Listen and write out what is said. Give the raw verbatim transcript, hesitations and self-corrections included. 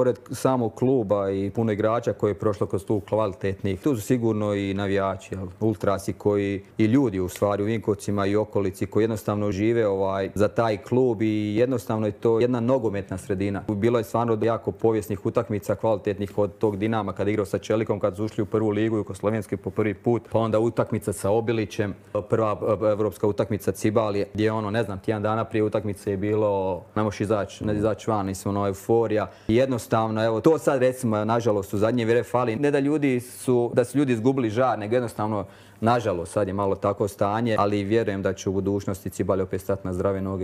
Pored samog kluba i puno igrača koji je prošlo kroz tu kvalitetnih, tu su sigurno i navijači, ultrasi koji i ljudi u stvari u Vinkovcima i okolici koji jednostavno žive ovaj, za taj klub i jednostavno je to jedna nogometna sredina. Bilo je stvarno jako povijesnih utakmica, kvalitetnih od tog Dinama kad igrao sa Čelikom, kad su ušli u prvu ligu jugoslovenski po prvi put, pa onda utakmica sa Obilićem, prva evropska utakmica Cibalije, gdje ono, ne znam, tjedan dana prije utakmice je bilo, ne možeš izaći, ne izaći van, mislim, ono, euforija. I jednostavno, evo, to sad recimo, nažalost, u zadnje vrijeme fali. Ne da ljudi su, da su ljudi izgubili žar, nego jednostavno, nažalost, sad je malo tako stanje, ali vjerujem da će u budućnosti Cibalije opet stati na zdrave noge.